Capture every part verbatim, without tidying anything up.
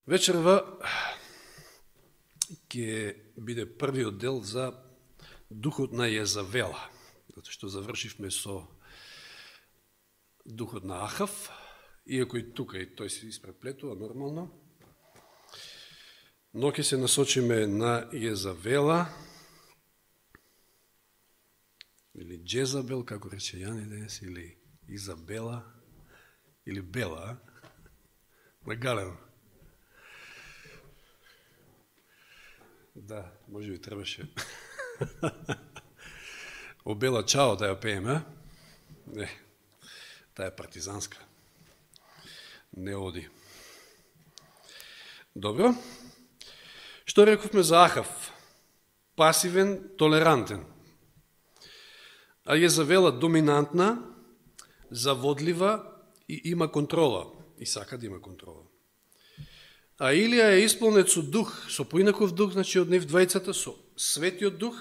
Вечерва ќе биде првиот дел за духот на Језавела, затоа што завршивме со духот на Ахав, иако и тука и тој се испреплетува нормално, но ќе се насочиме на Језавела, или Джезабел, како рече Јани денес, или Изабела, или Бела, нагалено. Да, може би требаше. Обела чао да ја пееме. Не, таа е партизанска. Не оди. Добро. Што рековме за Ахав? Пасивен, толерантен. А Језавела доминантна, заводлива и има контрола. И сака да има контрола. А Илија е исполнет со дух, со поинаков дух, значи од нив двајцата, со светиот дух,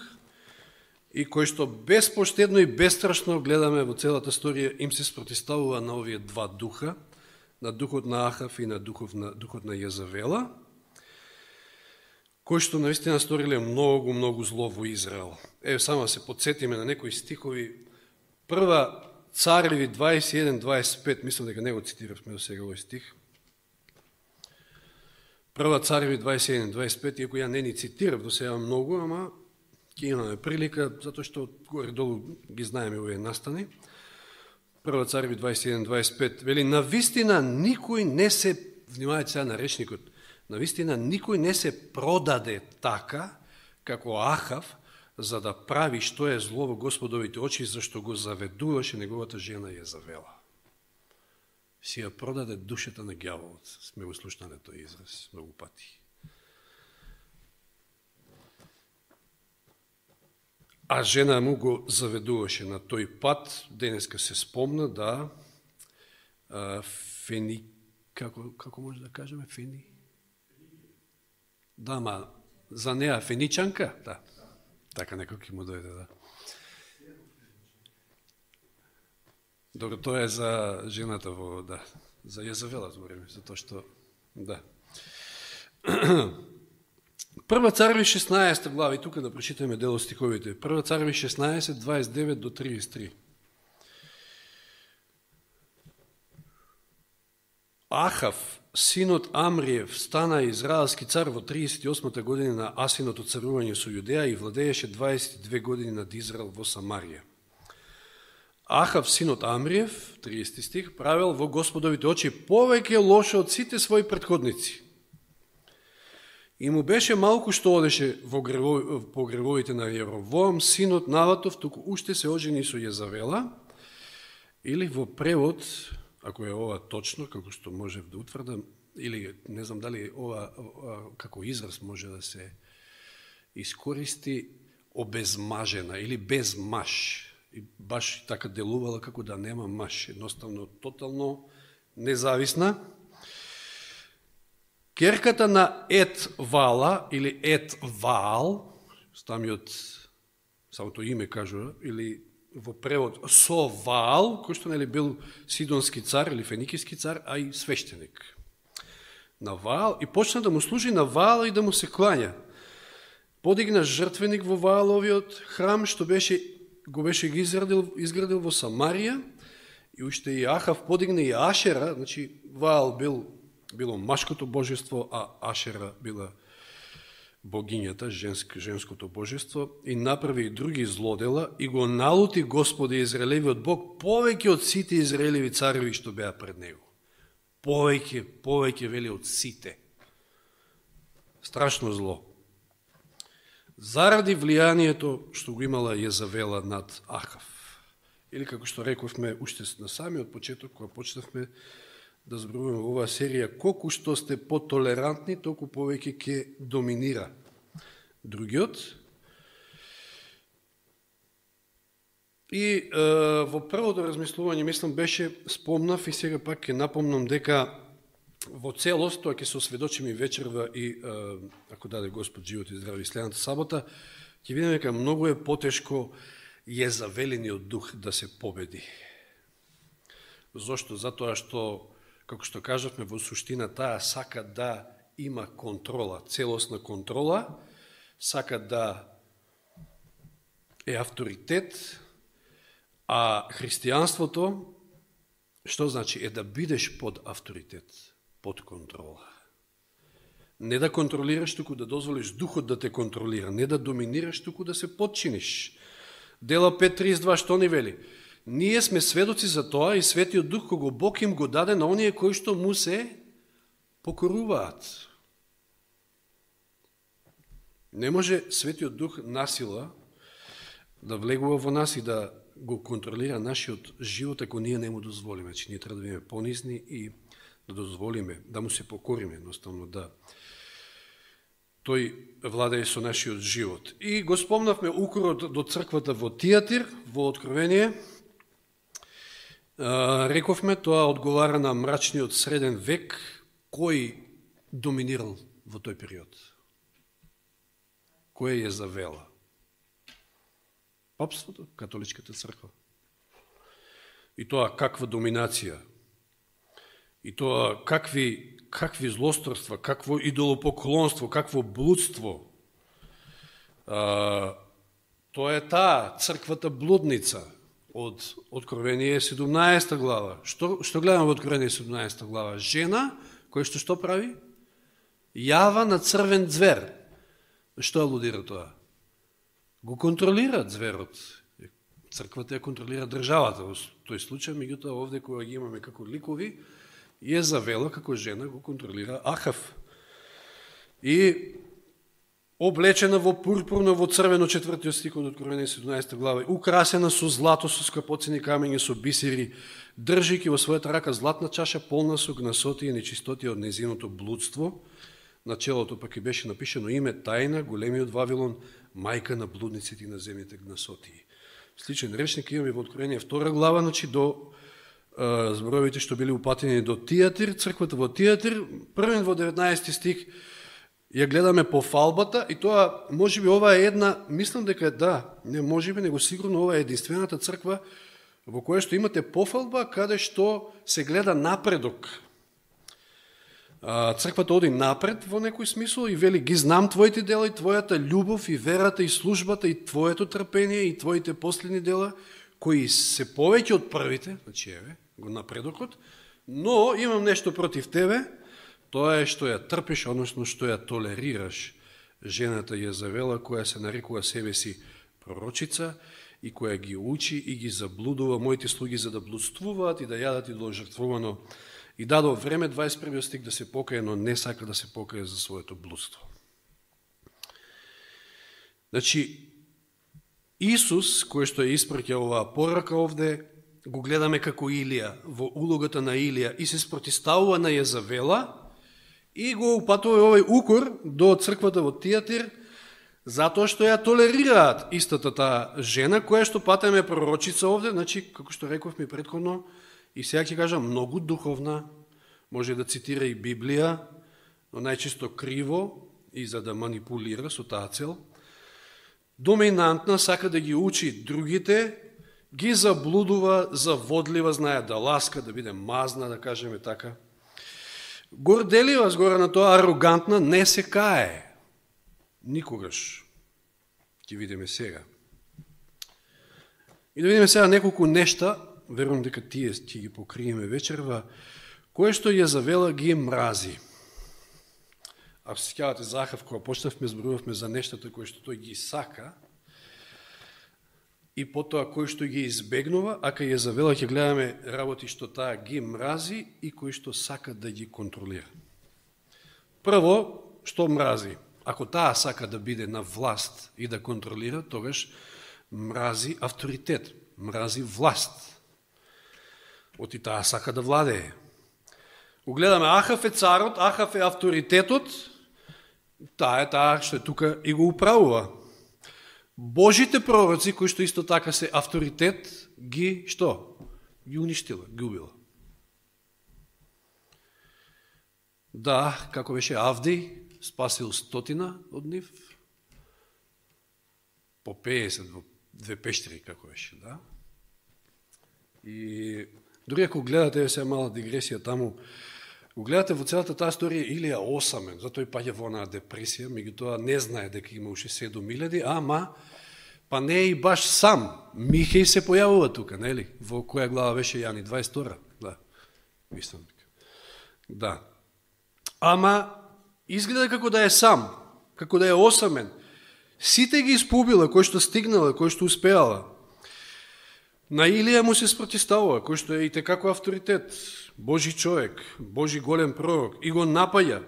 и кој што безпоштедно и бестрашно гледаме во целата сторија, им се спротиставува на овие два духа, на духот на Ахав и на духот на, духот на Језавела, кој што наистина сториле многу, многу зло во Израел. Ево, само се подсетиме на некои стихови. Прва Цареви дваесет и еден дваесет и пет, мислам дека не го цитиравме до сега овој стих. Прва Цареви дваесет и еден дваесет и пет, иако ја не ни цитирав до сега многу, ама ќе имаме прилика, затоа што горе-долу ги знаеме овие настани. Прва Цареви дваесет и еден дваесет и пет, вели, навистина никој не се, внимавајте сега на речникот, навистина никој не се продаде така, како Ахав, за да прави што е зло во Господовите очи, зашто го заведуваше неговата жена Језавела. Си ја продаде душата на ѓаволот. Сме го слушнали тој израз многу пати. А жена му го заведуваше на тој пат. Денеска се спомна да а, Фени, како, како може да кажеме, Фени? Да, ма, за неа Феничанка? Да. Така некој ќе му дојде, да. Добро, тоа е за жената во, да, за Језавела збориме, затоа што, да. Прва Цареви шеснаесета глава, и тука да прочитаме дел од стиховите. Прва Цареви шеснаесет, дваесет и девет до триесет и три. Ахав, синот Амриев, стана израелски цар во триесет и осмата година на Асиното царување со Јудеја и владееше дваесет и две години над Израел во Самарија. Ахав, синот Амриев, триесети стих, правил во Господовите очи повеќе лошо од сите своји претходници. И му беше малку што одеше во гревови, по гревовите на Јеровоам, синот Наватов, туку уште се ожени со Језавела, или во превод, ако е ова точно, како што можев да утврдам, или не знам дали ова, ова како израз може да се искористи, обезмажена или без маж. И баш така делувала како да нема маж, едноставно тотално независна. Керката на Ет Вала или Ет Ваал, самиот самото име кажува, или во превод со Ваал, кој што нели бил сидонски цар или феникиски цар, а и свештеник на Ваал, и почна да му служи на Ваал и да му се клања. Подигна жртвеник во Вааловиот храм, што беше го беше ги изградил, изградил во Самарија, и уште и Ахав подигна и Ашера, значи Ваал бил, било машкото божество, а Ашера била богињата, женск, женското божество, и направи и други злодела, и го налути Господи Израелевиот Бог повеќе од сите израелеви цареви што беа пред него. Повеќе, повеќе вели од сите. Страшно зло. Заради влијанието што го имала Језавела над Ахав. Или како што рековме уште на самиот почеток, кога почнавме да зборуваме во оваа серија, колку што сте потолерантни, толку повеќе ќе доминира другиот. И е, во првото размислување, мислам, беше, спомнав и сега пак ќе напомнам дека во целост, тоа ќе се осведочиме и вечерва и, ако даде Господ живот и здрави следната сабота, ќе видиме дека многу е потешко Језавелиниот дух да се победи. Зошто? Затоа што како што кажавме во суштина, таа сака да има контрола, целосна контрола, сака да е авторитет, а христијанството, што значи, е да бидеш под авторитет, под контрола. Не да контролираш, туку да дозволиш духот да те контролира, не да доминираш, туку да се подчиниш. Дела пет тридесет и два што ни вели? Ние сме сведоци за тоа и Светиот Дух кого Бог им го даде на оние кои што му се покоруваат. Не може Светиот Дух насила да влегува во нас и да го контролира нашиот живот ако ние не му дозволиме. Значи, ние треба да бидеме понизни и да дозволиме, да му се покориме, едноставно да тој владее со нашиот живот. И го спомнавме укорот до црквата во Тиатир, во Откровение. Рековме, тоа одговара на мрачниот среден век, кој доминирал во тој период? Кој е завела? Папството, католичката црква. И тоа каква доминација? И тоа какви, какви злосторства, какво идолопоклонство, какво блудство. А, тоа е таа црквата блудница од Откровение седумнаесета глава. Што, што гледаме во Откровение седумнаесета глава? Жена, која што што прави? Јава на црвен звер. Што алудира тоа? Го контролира зверот. Црквата ја контролира државата во тој случај, меѓутоа овде кога ги имаме како ликови, Језавела како жена го контролира Ахав. И облечена во пурпурно, во црвено, четвртиот стих од Откровение седумнаесета глава, украсена со злато, со скапоцени камења, со бисери, држики во својата рака златна чаша полна со гнасоти и нечистоти од незиното блудство. На челото пак и беше напишено име тајна, големиот Вавилон, мајка на блудниците и на земните гнасоти. Сличен речник имаме во Откровение втора глава, значи до зборовите што били упатени до Тиатир, црквата во Тиатир, првен во деветнаесети стих, ја гледаме по фалбата и тоа, може би ова е една, мислам дека да, не може би, него сигурно ова е единствената црква во која што имате пофалба, каде што се гледа напредок. Црквата оди напред во некој смисол и вели, ги знам твоите дела и твојата љубов и верата и службата и твоето трпение и твоите последни дела, кои се повеќе од првите, значи еве, го напредокот, но имам нешто против тебе, тоа е што ја трпиш, односно што ја толерираш жената Језавела, која се нарекува себе си пророчица и која ги учи и ги заблудува моите слуги за да блудствуваат и да јадат и идоложртвувано. И дадо време, дваесет и првиот стих, да се покае, но не сака да се покае за своето блудство. Значи, Исус, кој што ја испраќа оваа порака овде, го гледаме како Илија, во улогата на Илија, и се спротиставува на Језавела, и го упатува овој укор до црквата во Тиатир, затоа што ја толерираат истата таа жена, која што патеме пророчица овде, значи, како што рековме предходно, и сега ќе кажа, многу духовна, може да цитира и Библија, но најчесто криво и за да манипулира со таа цел, доминантна, сака да ги учи другите, ги заблудува, заводлива, знае да ласка, да биде мазна, да кажеме така. Горделива, згора на тоа, арогантна, не се кае. Никогаш. Ќе видиме сега. И да видиме сега неколку нешта, верувам дека тие ќе ги покриеме вечерва, кое што Језавела ги мрази. Ако се сеќавате за Ахав, кога почнавме, зборувавме за нештата кои што тој ги сака, и потоа кој што ги избегнува, а кај Језавела ќе гледаме работи што таа ги мрази и кои што сака да ги контролира. Прво, што мрази? Ако таа сака да биде на власт и да контролира, тогаш мрази авторитет, мрази власт. Оти таа сака да владее. Угледаме, Ахав е царот, Ахав е авторитетот, таа е таа што е тука и го управува. Божите пророци, кои што исто така се авторитет, ги, што? Ги уништила, ги убила. Да, како беше Авди, спасил стотина од нив, по пеесет во две пештери, како беше, да? И дори ако гледате, сега мала дигресија таму, Го гледате во целата таа историја, Илија осамен, затоа и паѓа во онаа депресија, меѓутоа не знае дека има уште седум илјади, ама па не е и баш сам. Михеј се појавува тука, нели? Во која глава беше Јани? дваесет и втора. Да. Мислам. Да. Ама изгледа како да е сам, како да е осамен. Сите ги испубила, кој што стигнала, кој што успеала. На Илија му се спротиставува, кој што е и текако авторитет, Божи човек, Божи голем пророк, и го напаја.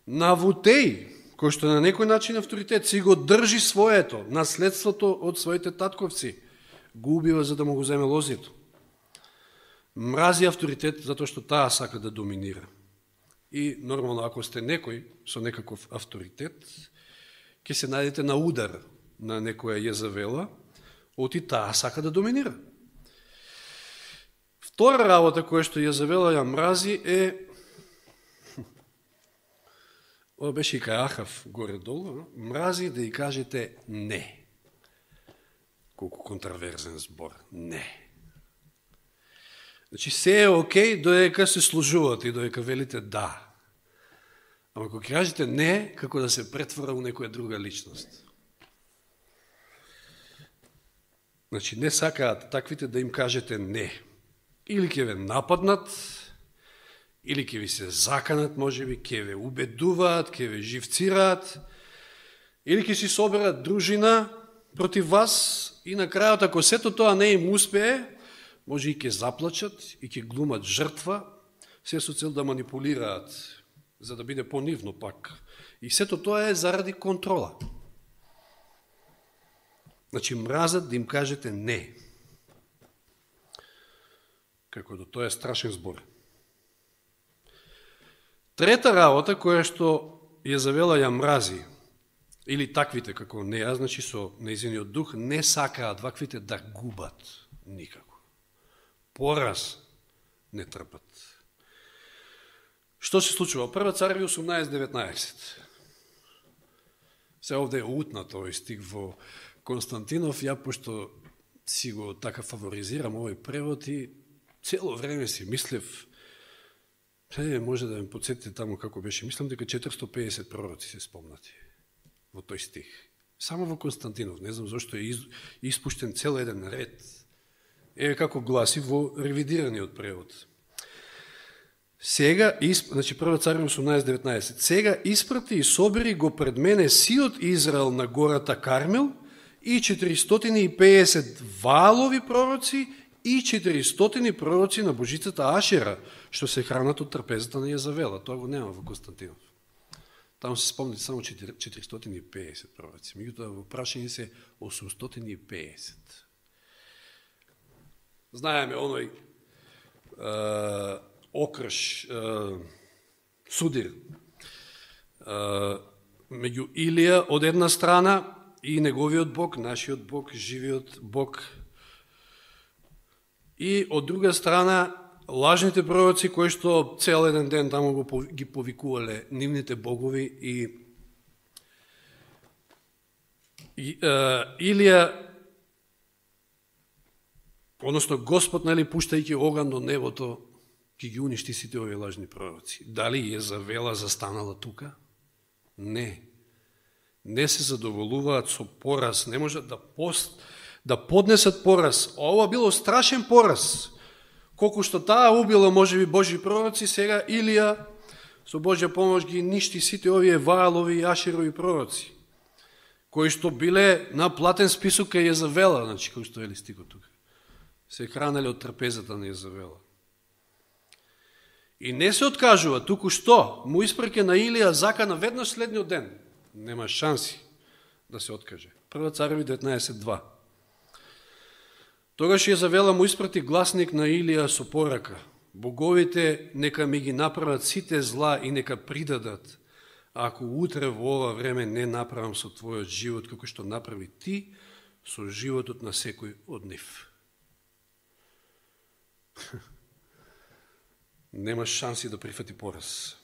На Вутеј, кој што на некој начин авторитет, си го држи своето, наследството од своите татковци, го убива за да му го земе лозито. Мрази авторитет, затоа што таа сака да доминира. И нормално, ако сте некој со некаков авторитет, ќе се најдете на удар на некоја Језавела, оти таа сака да доминира. Втора работа која што Језавела ја мрази е, ова беше и кај Ахав горе-долу, мрази да ја кажете не. Колку контраверзен збор, не. Значи, се е окей, додека се служувате и додека велите да. Ама ако кажете не, како да се претвора у некоја друга личност. Значи, не сакаат таквите да им кажете не. Или ќе ве нападнат, или ќе ви се заканат, можеби, ќе ве убедуваат, ќе ве живцираат, или ќе си соберат дружина против вас и на крајот, ако сето тоа не им успее, може и ќе заплачат и ќе глумат жртва, се со цел да манипулираат, за да биде понивно пак. И сето тоа е заради контрола. Значи, мразат да им кажете не. Како да тоа е страшен збор. Трета работа, која што Језавела ја мрази, или таквите како неа, значи со нејзиниот дух, не сакаат ваквите да губат никако. Пораз не трпат. Што се случува? Прва Цареви осумнаесет деветнаесет. Се овде е утнат овој стих во Константинов, ја пошто си го така фаворизирам овој превод и цело време си мислев, е, може да ме подсетите таму како беше, мислам дека четиристотини и педесет пророци се спомнати во тој стих. Само во Константинов, не знам зашто е испуштен цел еден ред. Еве како гласи во ревидираниот превод. Сега, значи прва Цареви осумнаесет деветнаесет, сега испрати и собери го пред мене сиот Израел на гората Кармел и четиристотини и педесет Ваалови пророци и четиристотини пророци на божицата Ашера, што се хранат од трпезата на Језавела. Тоа го нема во Константинов. Таму се спомнат само четиристотини и педесет пророци. Меѓутоа во прашање се осумстотини и педесет. Знаеме оној е, окрш, е, судир е, меѓу Илија од една страна и неговиот Бог, нашиот Бог, живиот Бог, и од друга страна лажните пророци кои што цел еден ден таму го ги повикувале нивните богови и, и е, Илија, односно Господ, нели, пуштајќи оган до небото, ќе ги уништи сите овие лажни пророци. Дали Језавела застанала тука? Не. Не се задоволуваат со пораз, не можат да, пост, да поднесат пораз. Ова било страшен пораз. Колку што таа убила, можеби, Божи пророци, сега Илија со Божја помош ги ништи сите овие Ваалови и Ашерови пророци, кои што биле на платен список кај Језавела, значи, кој што вели стикот тука. Се хранеле од трпезата на Језавела. И не се откажува, туку што му испраќа на Илија закана веднаш следниот ден. Нема шанси да се откаже. Прва Цареви деветнаесет два. Тогаш Језавела му испрати гласник на Илија со порака. Боговите нека ми ги направат сите зла и нека придадат, ако утре во ова време не направам со твојот живот како што направи ти со животот на секој од нив. Немаш шанси да прифати пораз.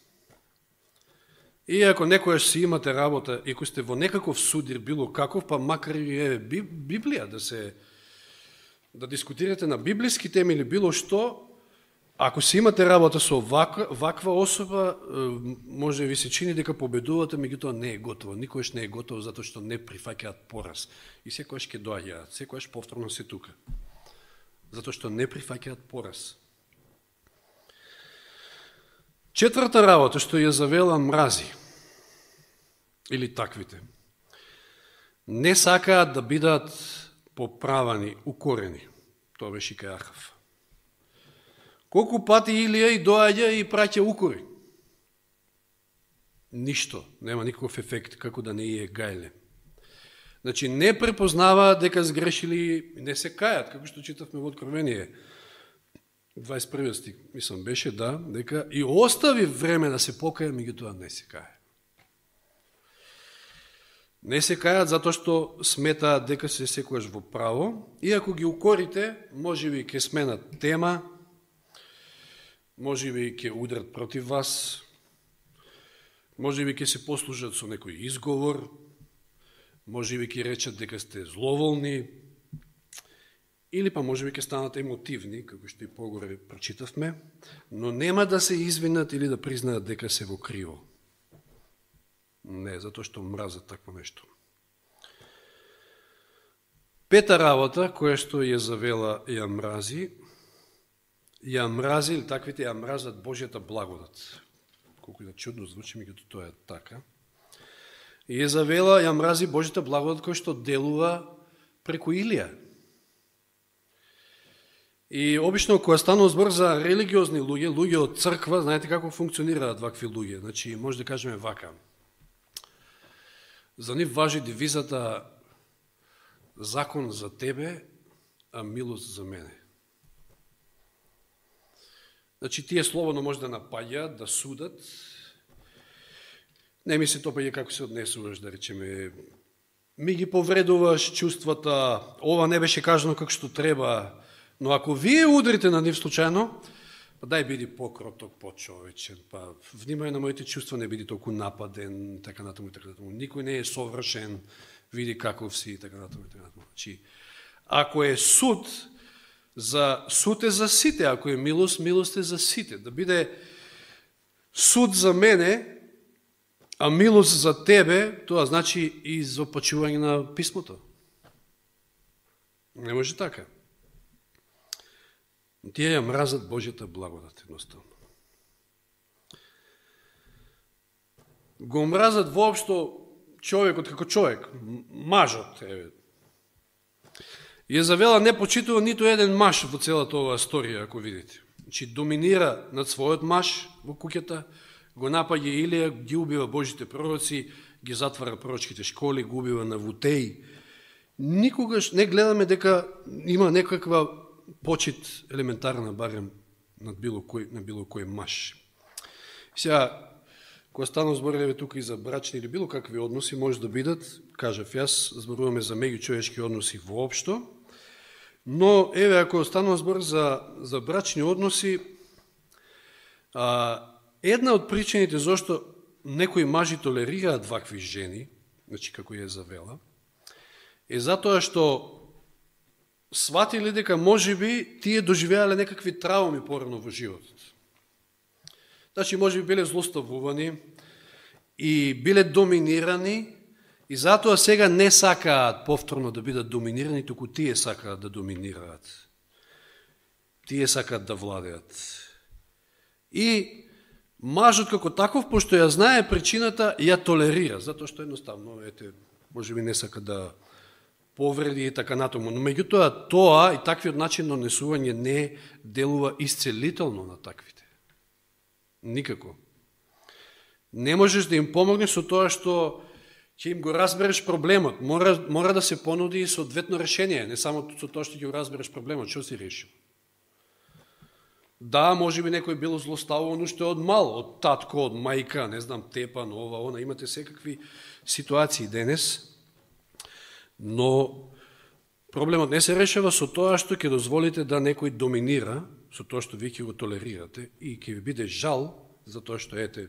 И ако некојаш си имате работа, и ако сте во некаков судир, било каков, па макар и е Библија, да се да дискутирате на библиски теми или било што, Ако си имате работа со ваква, ваква особа, може ви се чини дека победувате, меѓутоа не е готово. Никош не е готово затоа што не прифаќаат пораз. И секојаш ќе доаѓаат, секојаш повторно се тука. Затоа што не прифаќаат пораз. Четврта работа што ја завела мрази, или таквите, не сакаат да бидат поправани, укорени. Тоа беше кај Ахав. Колку пати Илија и доаѓа и праќа укори? Ништо, нема никаков ефект, како да не е гајле. Значи, не препознаваат дека сгрешили, не се кајат, како што читавме во Откровение. дваесет и први стих, мислам, беше, да, дека и остави време да се покаја, меѓутоа не се каја. Не се кајат затоа што сметаат дека се секојаш во право, и ако ги укорите, може би ќе сменат тема, може би ќе удрат против вас, може би ќе се послужат со некој изговор, може би ќе речат дека сте зловолни, или па може би ќе станат емотивни, како што и погоре прочитавме, но нема да се извинат или да признаат дека се во криво. Не, затоа што мразат такво нешто. Пета работа, која што ја завела ја мрази, ја мрази, или таквите ја мразат Божјата благодат. Колку да чудно звучи, меѓутоа тоа е така. И ја завела, ја мрази Божјата благодат која што делува преку Илија. И обично кога станува збор за религиозни луѓе, луѓе од црква, знаете како функционираат вакви луѓе. Значи, може да кажеме вака. За нив важи девизата закон за тебе, а милост за мене. Значи, тие слободно може да напаѓаат, да судат. Не ми се топаѓа како се однесуваш, да речеме, ми ги повредуваш чувствата, ова не беше кажано како што треба, но ако вие удрите на нив случајно, па дај биди покроток, почовечен, па внимај на моите чувства, не биди толку нападен, така натаму и така натаму. Никој не е совршен, види каков си, така натаму и така натаму. Значи, ако е суд, за суд е за сите, ако е милост, милост е за сите. Да биде суд за мене, а милост за тебе, тоа значи и изопачување на писмото. Не може така. Тие ја мразат Божјата благодат, едноставно. Го мразат воопшто човекот како човек, мажот, еве. Ја завела не почитува ниту еден маж во целата оваа историја, ако видите. Значи, доминира над својот маж во куќата, го напаѓа Илија, ги убива Божите пророци, ги затвара пророчките школи, го убива Навутеј. Никогаш не гледаме дека има некаква почит елементарна, барем над било кој, на било кој маж. Сега, кога станам збореве тука и за брачни или било какви односи, може да бидат, кажав јас, зборуваме за меѓучовечки односи воопшто, но, еве, ако станува збор за, за брачни односи, а, една од причините зашто некои мажи толерираат вакви жени, значи како ја завела, е затоа што сватили дека можеби тие доживеале некакви трауми порано во животот. Значи, можеби биле злоставувани и биле доминирани, и затоа сега не сакаат повторно да бидат доминирани, туку тие сакаат да доминираат. Тие сакаат да владеат. И мажот како таков, пошто ја знае причината, ја толерира, затоа што едноставно, ете, можеби не сака да повреди и така натаму. Но меѓутоа тоа и таквиот начин на однесување не делува исцелително на таквите. Никако. Не можеш да им помогнеш со тоа што ќе им го разбереш проблемот. Мора, мора да се понуди и соодветно решение, не само со тоа што ќе го разбереш проблемот, што си решил. Да, може би некој било злоставуван уште од мал, од татко, од мајка, не знам, тепан, ова, она, имате секакви ситуации денес, но проблемот не се решава со тоа што ќе дозволите да некој доминира, со тоа што вие ќе го толерирате и ќе ви биде жал за тоа што ете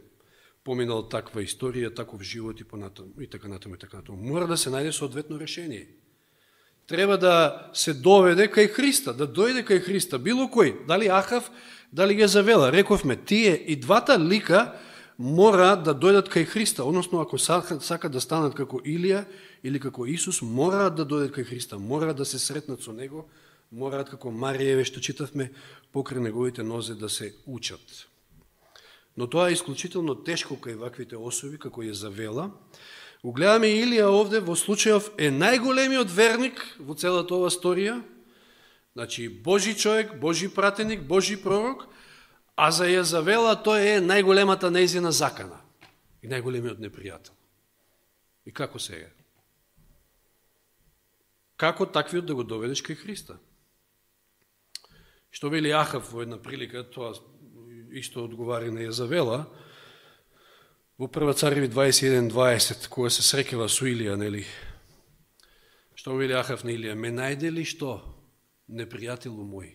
поминал таква историја, таков живот и понатаму и така натаму и така натаму. Мора да се најде соодветно решение. треба да се доведе кај Христа, да дојде кај Христа, било кој, дали Ахав, дали Језавела. Рековме, тие и двата лика мора да дојдат кај Христа, односно ако сакат да станат како Илија или како Исус, мораат да дојдат кај Христа, мораат да се сретнат со Него, мораат како Маријеве, што читавме, покрај неговите нозе да се учат. Но тоа е исклучително тешко кај ваквите особи, како Језавела. Го гледаме Илија овде, во случајов е најголемиот верник во целата ова сторија, значи Божи човек, Божи пратеник, Божи пророк, а за Језавела тој е најголемата нејзина закана и најголемиот непријател. И како сега? Како таквиот да го доведеш кај Христа? Што вели Ахав во една прилика, тоа исто одговари на Језавела, во Прва Цареви дваесет и еден дваесет, кога се срекева со Илија, нели? Што вели Ахав на Илија? Ме најде ли што, непријателу мој?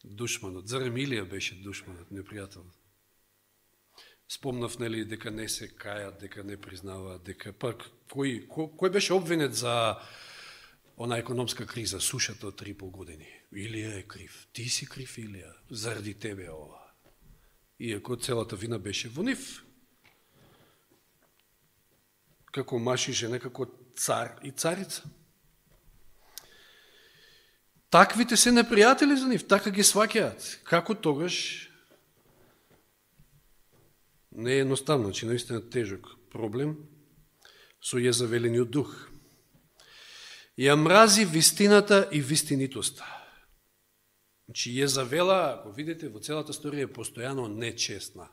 Душманот. Зарем Илија беше душманот, непријателот? Спомнав, нели, дека не се кајат, дека не признаваат, дека пак кој, кој, кој беше обвинет за она економска криза, сушата од три и пол години? Илија е крив. Ти си крив, Илија, заради тебе ова. Иако целата вина беше во нив. Како маж и жена, како цар и царица. Таквите се непријатели за нив, така ги сваќаат. Како тогаш? Не е едноставно, че наистина тежок проблем со Језавелениот дух. Ја мрази вистината и вистинитоста. Значи, Језавела, ако видите, во целата сторија е постојано нечестна.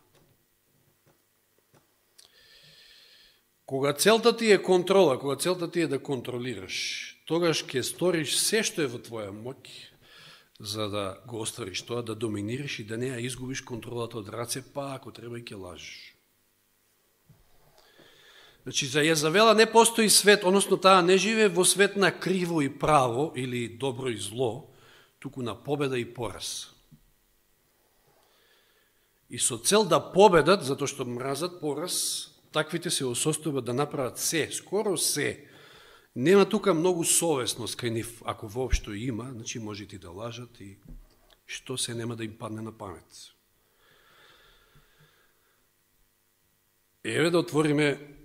Кога целта ти е контрола, кога целта ти е да контролираш, тогаш ќе сториш се што е во твоја моќ, за да го оствариш тоа, да доминираш и да не ја изгубиш контролата од раце, па ако треба и ќе лажиш. Значи, за Језавела не постои свет, односно таа не живее во свет на криво и право или добро и зло, туку на победа и пораз. И со цел да победат, затоа што мразат пораз, таквите се осостојбат да направат се, скоро се. Нема тука многу совесност кај нив, ако воопшто има, значи може ти да лажат и што се нема да им падне на памет. Еве да отвориме,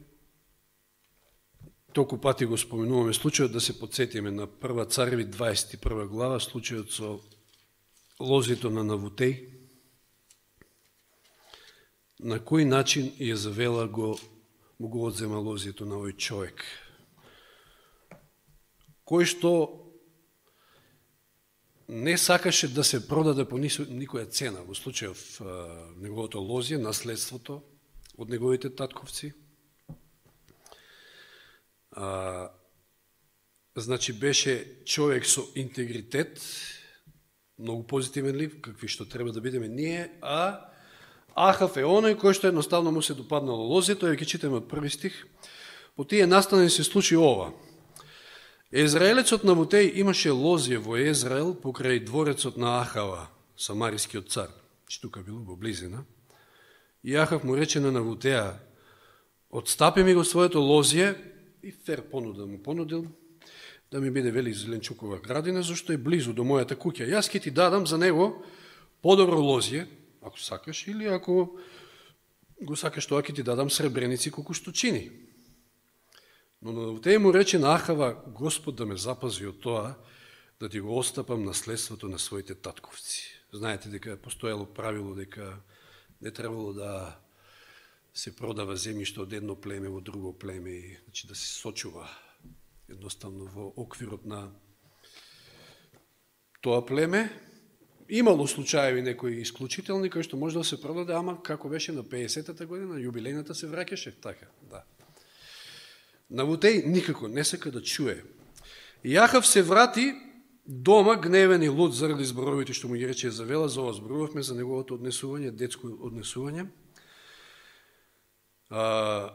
толку пати го споменуваме случајот, да се подсетиме на Прва Цареви дваесет и прва глава, случајот со лозито на Навутеј, на кој начин Језавела го, му го одзема лозито на овој човек, кој што не сакаше да се продаде по никоја цена, во случајов неговото лозие, наследството од неговите татковци. А, значи беше човек со интегритет, многу позитивен лив, какви што треба да бидеме ние, а Ахав е оној кој што едноставно му се допаднало лозито, и ќе читаме од први стих. По тие настани се случи ова. Езраелецот Навутеј имаше лозие во Езраел покрај дворецот на Ахава, самарискиот цар, че тука било во близина. И Ахав му рече на Навутеја, отстапи ми го своето лозие, и фер понуда му понудил, да ми биде вели зеленчукова градина, зашто е близу до мојата куќа. Јас ќе ти дадам за него подобро лозие, ако сакаш, или ако го сакаш тоа, ќе ти дадам сребреници колку што чини. Но Навутеј му рече на Ахава, Господ да ме запази од тоа, да ти го остапам наследството на своите татковци. Знаете дека постоело правило дека не требало да се продава земјиште од едно племе во друго племе, значи да се сочува едноставно во оквирот на тоа племе. Имало случаеви некои исклучителни кои што може да се продаде, ама како беше на пеесетата година, јубилејната се враќаше така, да. Навутеј никако не сака да чуе. И Ахав се врати дома гневен и луд заради зборовите што му ги рече Језавела, за ова зборувавме за неговото однесување, детско однесување. А,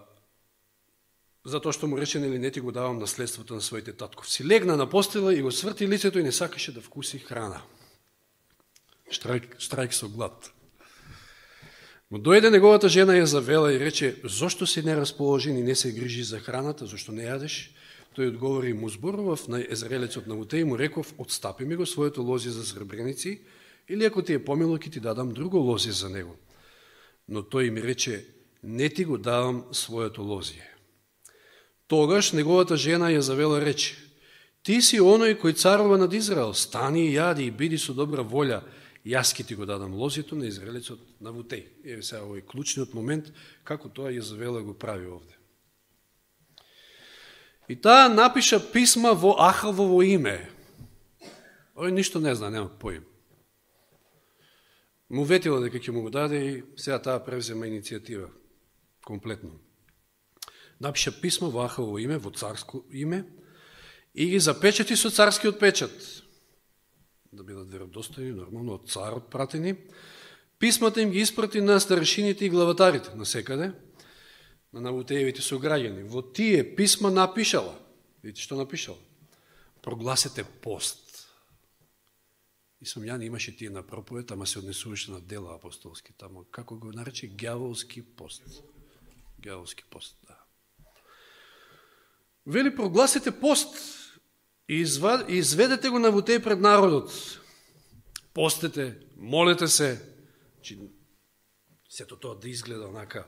затоа што му рече, нели, не ти го давам наследството на своите татковци. Легна на постела и го сврти лицето и не сакаше да вкуси храна. Штрајк, штрајк со глад. Но дојде неговата жена Језавела и рече: зошто си нерасположен и не се грижи за храната, зашто не јадеш? Тој одговори и му зборував на Езраелецот Навутеј и му реков: отстапи ми го своето лози за сребреници, или ако ти е помило, ќе ти дадам друго лози за него. Но тој ми рече: не ти го давам своето лозие. Тогаш неговата жена Језавела рече: ти си оној кој царува над Израел, стани и јади и биди со добра волја, јас ќе ти го дадам лозието на Израелецот Навутеј. Еве сега овој клучниот момент, како тоа Језавела го прави овде. И таа напиша писма во Ахавово име. Ој ништо не зна, нема поим. Му ветила дека ќе му го даде и сега таа превзема иницијатива. Комплетно. Напиша писма во Ахавово име, во царско име, и ги запечати со царскиот печат. Да бидат веродостојни, нормално, од царот пратени. Писмата им ги испрати на старешините и главатарите, на секаде, на Навутеевите сограѓани. Во тие писма напишала, видите што напишала? Прогласете пост. И Самјан имаше тие на проповед, ама се однесуваше на дела апостолски. Тамо, како го нарече, ѓаволски пост. Ѓаволски пост, да. Вели, прогласете пост и изведете го Навутеј пред народот. Постете, молете се, че сето тоа да изгледа онака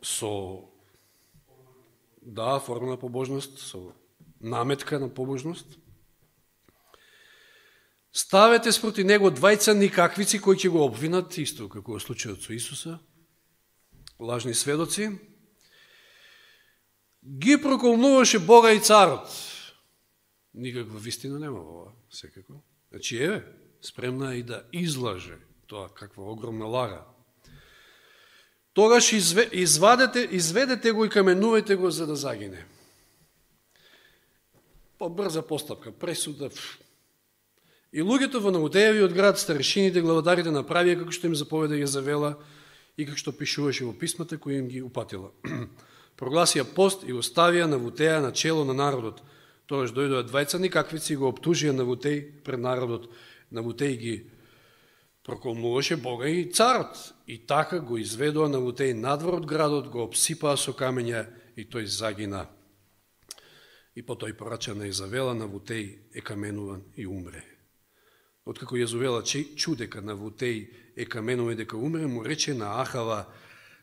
со, да, форма на побожност, со наметка на побожност. Ставете спроти него двајца никаквици кои ќе го обвинат, исто како во случајот со Исуса, лажни сведоци. Ги проколнуваше Бога и царот. Никаква вистина нема во ова, секако. Значи, еве, спремна и да излаже тоа, каква огромна лага. Тогаш извадете, изведете го и каменувајте го за да загине. Побрза постапка, пресуда. И луѓето во Навутеевиот град, старешините, главатарите направија како што им заповеда Језавела и како што пишуваше во писмата кои им ги упатила. Прогласија пост и оставија Навутеја на чело на народот. Тогаш дојдоа двајца никаквици и го оптужија Навутеј пред народот. Навутеј ги проколнуваше Бога и царот. И така го изведоа Навутеј надвор од градот, го обсипаа со камења и тој загина. И потоа порача на Језавела, Навутеј е каменуван и умре. Откако Језавела чу дека Навутеј е каменуван и дека умре, му рече на Ахава: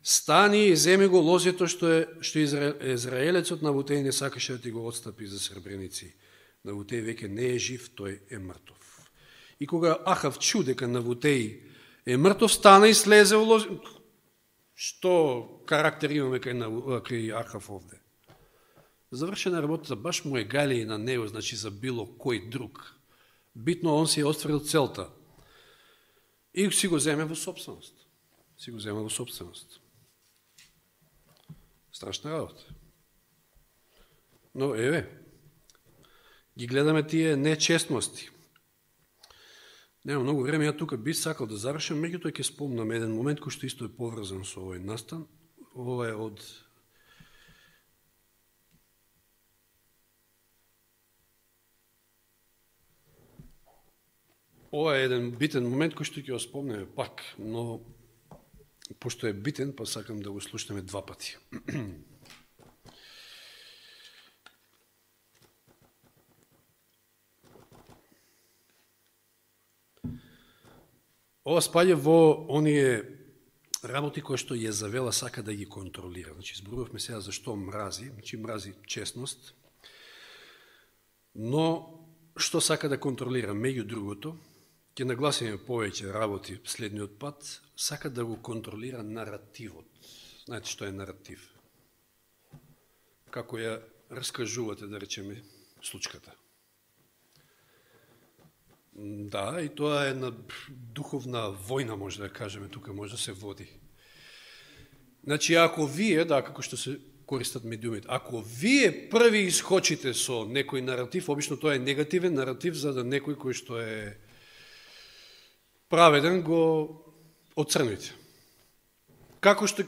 стани и земи го лозето што е што Израелецот Навутеј не сакаше да ти го отстапи за сребреници. Навутеј веќе не е жив, тој е мртов. И кога Ахав чу дека Навутеј е мртов, стана и слезе во лозето. Што карактер имаме кај, кај Ахав овде? Завршена работата, баш му е гали и на него, значи за било кој друг. Битно он си е остварил целта. И си го земе во собственост. Си го земе во собственост. Страшна работа. Но, еве, ги гледаме тие нечестности. Нема многу време, ја тука би сакал да завршам, меѓутоа ќе спомнам еден момент кој што исто е поврзан со овој настан. Ова е од Ова е еден битен момент кој што ќе го спомнеме пак, но пошто е битен, па сакам да го слушнеме два пати. Ова спаѓа во оние работи кои што Језавела сака да ги контролира. Значи, зборувавме сега зашто мрази, значи мрази честност, но што сака да контролира, меѓу другото, ќе нагласиме повеќе работи следниот пат, сака да го контролира наративот. Знаете што е наратив? Како ја раскажувате, да речеме, случката. Да, и тоа е една духовна војна, може да кажеме, тука може да се води. Значи, ако вие, да, како што се користат медиумите, ако вие први искочите со некој наратив, обично тоа е негативен наратив, за да некој кој што е праведен го отцрните. Како што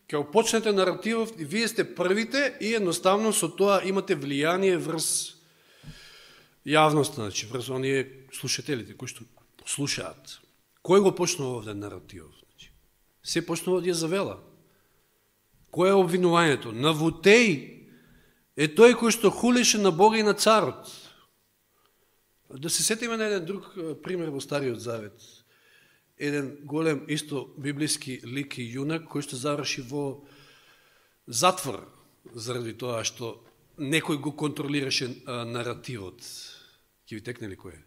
ќе почнете наративов, вие сте првите и едноставно со тоа имате влијание врз јавноста, значи врз оние слушателите кои што слушаат. Кој го почнува овде наративот? Се почнува од Језавела. Кој е обвинувањето? Навутеј е тој кој што хулеше на Бога и на царот. Да се сетиме на еден друг пример во Стариот Завет. Еден голем исто библиски лик и јунак кој што заврши во затвор заради тоа што некој го контролираше наративот. Ќе ви текне ли кој е?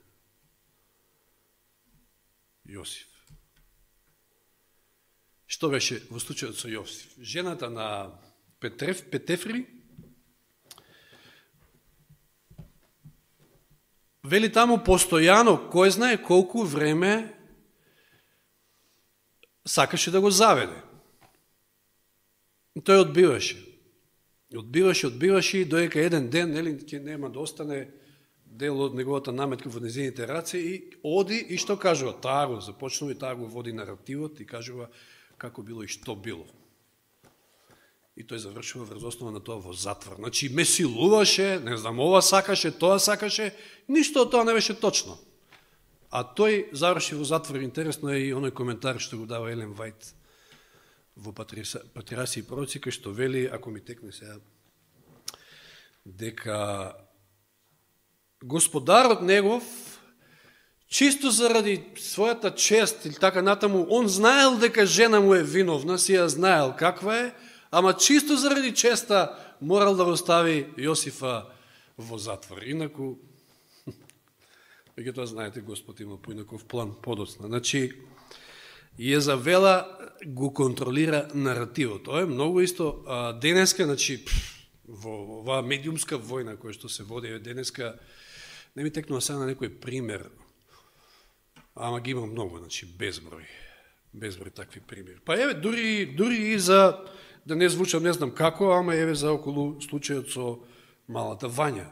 Јосиф. Што беше во случајот со Јосиф? Жената на Петрев, Петефри вели таму постојано, кој знае колку време сакаше да го заведе. Тој одбиваше. Одбиваше, одбиваше и доека еден ден, нели, ќе нема да остане дел од неговата наметка во незините раце и оди и што кажува? Таа го започнува и таа го води наративот и кажува како било и што било. И тој завршува врз основа на тоа во затвор. Значи, ме силуваше, не знам, ова сакаше, тоа сакаше, ништо од тоа не беше точно. А тој заврши во затвор. Интересно е и оној коментар што го дава Елен Вајт во Патриарси и пророци, кај што вели, ако ми текне сега, дека господарот негов, чисто заради својата чест или така натаму, он знаел дека жена му е виновна, си ја знаел каква е, ама чисто заради честа морал да го стави Јосифа во затвор. Инаку, веќе тоа знаете, Господ има поинаков план подоцна. Значи, Језавела го контролира наративот. Тоа е многу исто а, денеска, значи, во оваа медиумска војна која што се води денеска, не ми текнува сега на некој пример, ама ги има многу, значи, безброј. Безброј такви примери. Па еве, дури, дури и за, да не звучам не знам како, ама еве за околу случајот со малата Вања.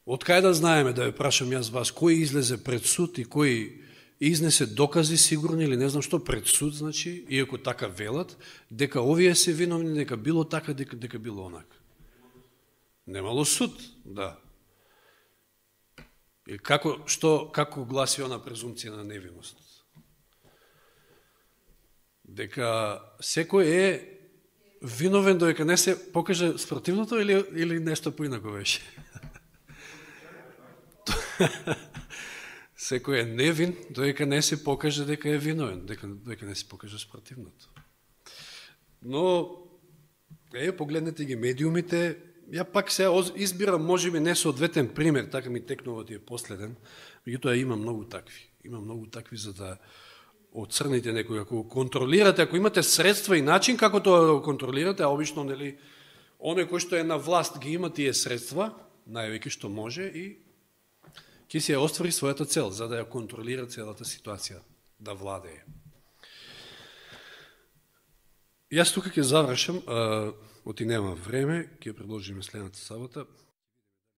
Од кај да знаеме, да ве прашам јас вас, кој излезе пред суд и кој изнесе докази сигурни или не знам што пред суд, значи, иако така велат, дека овие се виновни, дека било така, дека, дека било онак. Немало суд, да. И како, што, како гласи она презумција на невиност? Дека секој е виновен додека не се покаже спротивното или, или нешто поинако беше? Секој е невин додека не се покаже дека е виновен, дека, додека не се покаже спротивното. Но, е, погледнете ги медиумите, ја пак се избирам, може би, несоодветен пример, така ми текнува тие последен, меѓутоа има многу такви. Има многу такви за да отцрните некој, ако го контролирате, ако имате средства и начин како тоа да го контролирате, а обично, нели, оној кој што е на власт ги има тие средства, највеќе што може и ќе си ја оствари својата цел, за да ја контролира целата ситуација, да владее. Јас тука ќе завршам, оти нема време, ќе продолжиме следната сабота.